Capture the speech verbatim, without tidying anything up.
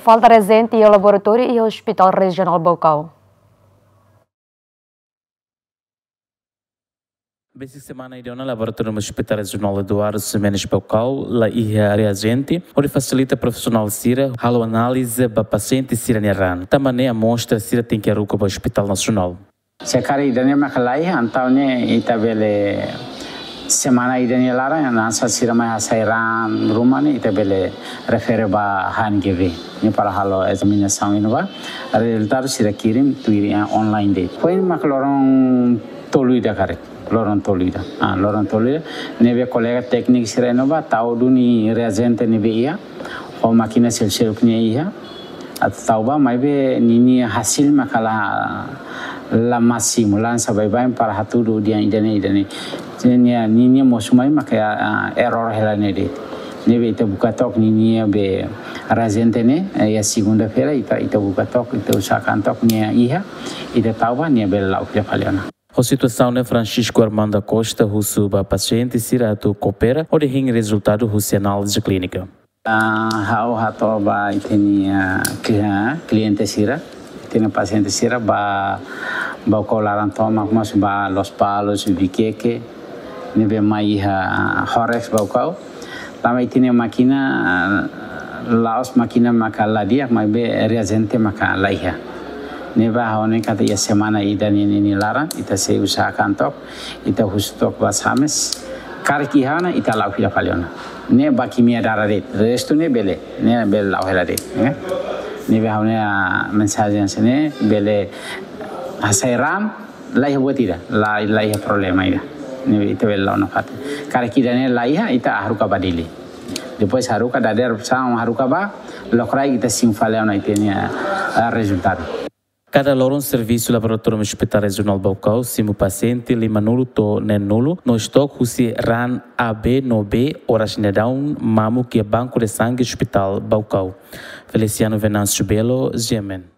Falta reajente iha laboratóriu iha Hospital Rejionál Baucau. Besik semana ida ona, Laboratóriu Hospital Rejionál Eduardo Ximenes Baucau la iha reajente hodi fasilita profisionál sira halo análize ba pasiente sira-nia raan. Tanba ne'e amostra sira tenke haruka ba Hospital Nasionál. Se karik ida-ne'e maka la iha, entaun ne'e ita bele semana ida-ne'e laran, hanesan sira mai hasai raan ruma ne'e ita bele refere ba H N G V. Ne'e para halo ezaminasaun iha ne'ebá, rezultadu sira kirim tuir, ah, online de'it. Foin maka loron tolu ida karik, loron tolu ida. Ah, loron tolu ida. Ne'ebé kolega tékniku sira iha ne'ebá tau duni reajente ne'ebé iha, ho mákina seluk-seluk ne'e iha, atu tau ba, maibé ninia hasil maka la, la másimu, la hanesan baibain para hatudu dehan ida-ne'e, ida-ne'e. Ninia, ninia mosu mai maka, ah, error hela ne'e de'it. Ne'ebé ita buka took ninia be reajente ne'e, eh, iha segunda-feira ita, ita buka took, ita usahakan took nia iha, ita tau ba, nia bele la'o fila fali ona. Ho situasaun ne'e, Francisco Armando da Costa husu ba pasiente sira atu koopera hodi hein rezultadu husi análize klínika. Ah, ha'u hato'o ba ita-nia, ah, kli-, ah, kliente sira, ita-nia pasiente sira ba, Baucau laran tomak, mós ba Lospalos, Viqueque, ne'ebé mai iha, ah, Horex Baucau. Tanba ita-nia mákina, ah, la'ós mákina maka la di'ak, maibé reajente maka la iha. Ne'ebé ha'u hanoin katak iha semana ida-ne'e nia laran, ita sei usahakan took, ita husu took ba Sames. Karik iha ona, ita la'o fila fali ona. Ne'e ba kimia darah de'it, restu ne'e bele, ne'e bele la'o hela de'it, eh. Ne'ebé ha'u-nia, ah, mensajen hanesan ne'e, bele hasai raan, la iha buat ida, la, la iha problema ida. Ne'ebé ita bele la'o nafatin. Karik ida-ne'e la iha, ita haruka ba Dili. Depois haruka dadeer-saan haruka ba, lokraik ita simu fali ona ita-nia, ah, rezultadu. Kada loron servisu Laboratóriu Hospital Rejionál Baucau simu pasiente limanulu to'o neenulu no estoke husi raan A B no B, oras ne'e daudaun mamuk iha banku de sangue Hospital Baucau. Feliciano Venâncio Belo, G M N.